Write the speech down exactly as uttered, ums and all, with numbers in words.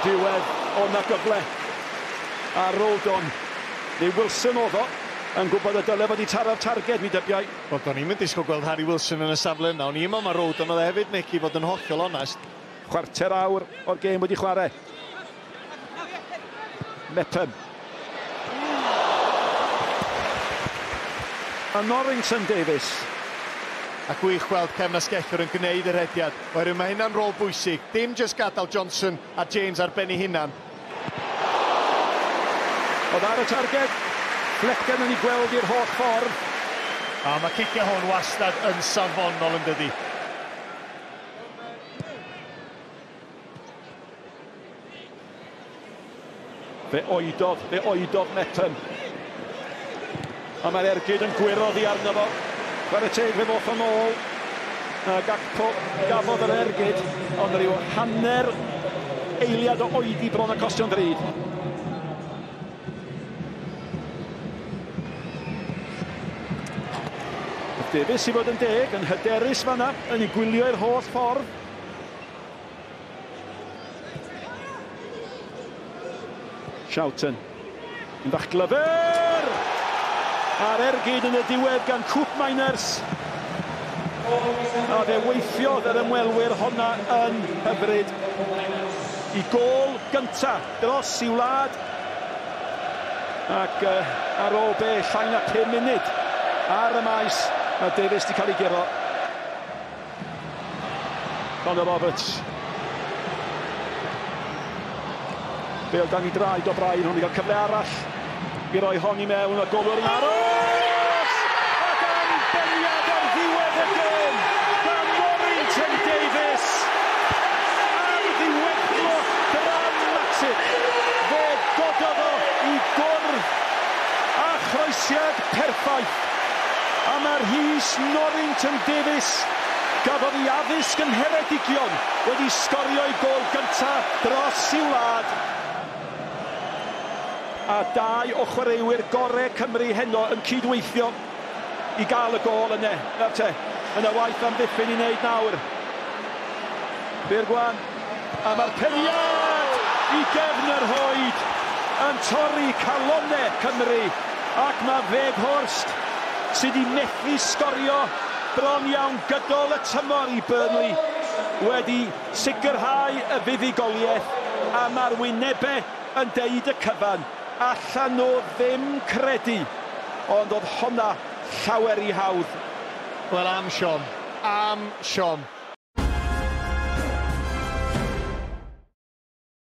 O'r diwedd, o na gyfle. A Rodon, neu Wilson oedd o, yn gwybod y dyle fod i taro'r targed, mi dybiai. Wel, do'n i'm yn disgwyl gweld Harry Wilson yn y safle yna. O'n i'n meddwl mae Rodon oedd e hefyd, Nick, i fod yn hollol onest. Chwarter awr o'r gêm wedi chwarae. Mepham. A Norrington Davies. A gwych gweld cefn asgellwr yn gwneud yr rediad. Oherwydd mae hynna'n rôl bwysig. Dim jyst gadael Johnson a James ar ben ei hunan. Oedd ar y targed. Flecken yn ei gweld i'r holl ffordd. A mae cicio hwn wastad yn safonol yn dydi. Fe oedodd, fe oedodd Mepham. A mae'r ergyd yn gwyro ddi arno fo. Chwarae teg, fe ddoth o'n ôl. A Gakpo gafodd yr ergyd, ond rhyw hanner eiliad o oedi bron a costio'n ddrud. Davies i fod yn deg, yn hyderus fanna, yn ei gwylio i'r holl ffordd. Schouten. Yn fach glyfr! A'r ergyd yn y diwedd gan Koopmeiners. A fe weithiodd yr ymwelwyr honna yn hyfryd. I gôl gynta dros i wlad. Ac uh, ar ôl be, llai na pum munud ar y maes, mae Davies wedi cael ei guro. Connor Roberts. Bale dan i draed o O'Brien, hwn i gael cyfle arall i roi hon i mewn, a golwr yn aros! Ac anbeniad ar ddiwedd y gêm gan Norrington Davies! Ar ddiweddglo dramatic! Fe gododd o i gwrdd a chroesiad perffaith. A mae'r Rhys Norrington Davies, gafodd ei addysg yn Ngheredigion, wedi sgorio ei gôl gyntaf dros i'w wlad. A dau o chwaraewyr gorau Cymru heno yn cydweithio i gael y gôl yna. Nawr te, yna waith amddiffyn i wneud nawr. Bergwan, a mae'r peniad i gefn yr hoed yn torri calonnau Cymru. Ac mae Weghorst sydd wedi methu sgorio bron iawn gydol y tymor i Burnley wedi sicrhau y fuddugoliaeth, a mae'r wynebau yn deud y cyfan. Allan nhw ddim credu, ond oedd honna llawer i hawdd. Wel, am siom, am siom.